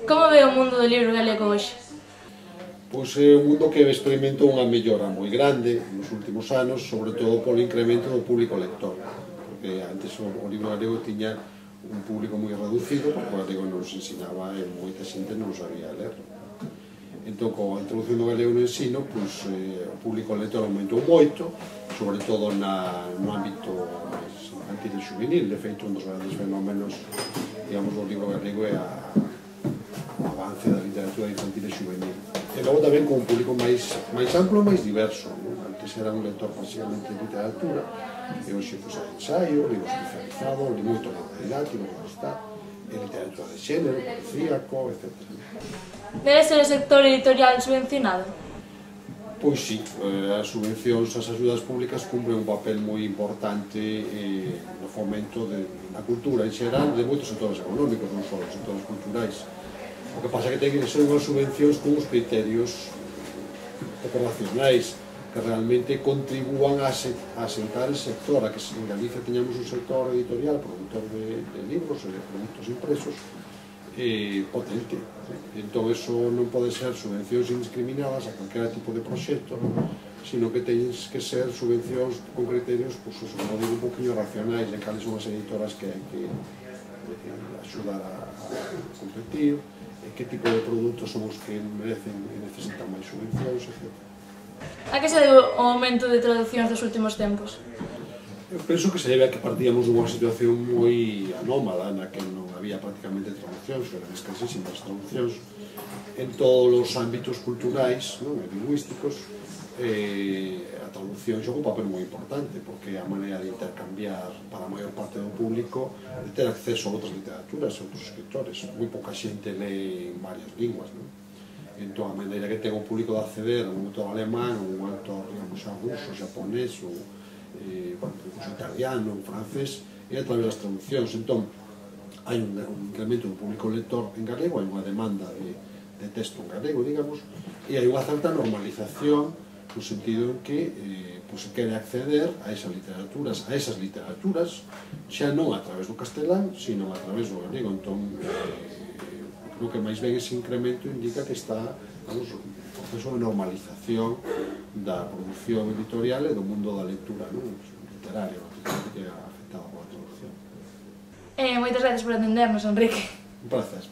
Como ve o mundo do libro galego hoxe? Pois é un mundo que experimentou unha mellora moi grande nos últimos anos, sobre todo polo incremento do público lector, porque antes o libro galego tiña un público moi reducido, porque o galego non se ensinaba e moita xente non sabía ler. Entón, coa introducción do galego no ensino, pois, o público lector aumentou moito, sobre todo no ámbito infantil e juvenil. De feito, un dos grandes fenómenos, digamos, do libro galego é o avance da literatura infantil e juvenil. E logo tamén con un público máis amplo e máis diverso. Antes era un lector basicamente de literatura, e hoxe pues, hai ensaio, libro especializado, moito libro didáctico, como está, e literatura de xénero, policíaco, etc. Debe ser o sector editorial subvencionado? Pois sí, as subvencións, as axudas públicas cumpren un papel moi importante no fomento da cultura en xeral de moitos sectores económicos, non só os sectores culturais. O que pasa é que ten que ser unhas subvencións con uns criterios operacionais que realmente contribúan a asentar el sector, a que en Galicia teñamos un sector editorial, produtor de libros e de produtos impresos potente. Entón, eso non pode ser subvencións indiscriminadas a calquera tipo de proxecto, sino que teñen que ser subvencións con criterios, como digo, un poquinho racionais de cales son as editoras que hai que axudar a competir, que tipo de produtos son os que merecen e necesitan máis subvencións, etc. A que se debe o aumento de traduccións dos últimos tempos? Eu penso que se debe a que partíamos dunha situación moi anómala na que non había prácticamente traduccións, eran escasísimas traduccións en todos os ámbitos culturais e lingüísticos. A traducción xoga un papel moi importante porque é a maneira de intercambiar para a maior parte do público, de ter acceso a outras literaturas e outros escritores. Moi pouca xente lee en varias linguas, entón a maneira que ten o público de acceder a un autor alemán, a un autor, digamos, ruso, japonés ou incluso italiano, francés, e a través das traduccións. Entón, hai un incremento do público lector en galego, hai unha demanda de texto en galego, digamos, e hai unha certa normalización no sentido en que se quere acceder a esas literaturas, xa non a través do castelán, sino a través do galego. Entón, creo que máis ben ese incremento indica que está un proceso de normalización da produción editorial e do mundo da lectura literaria, que é afectada pola traducción. Moitas gracias por atendernos, Enrique. Un placer.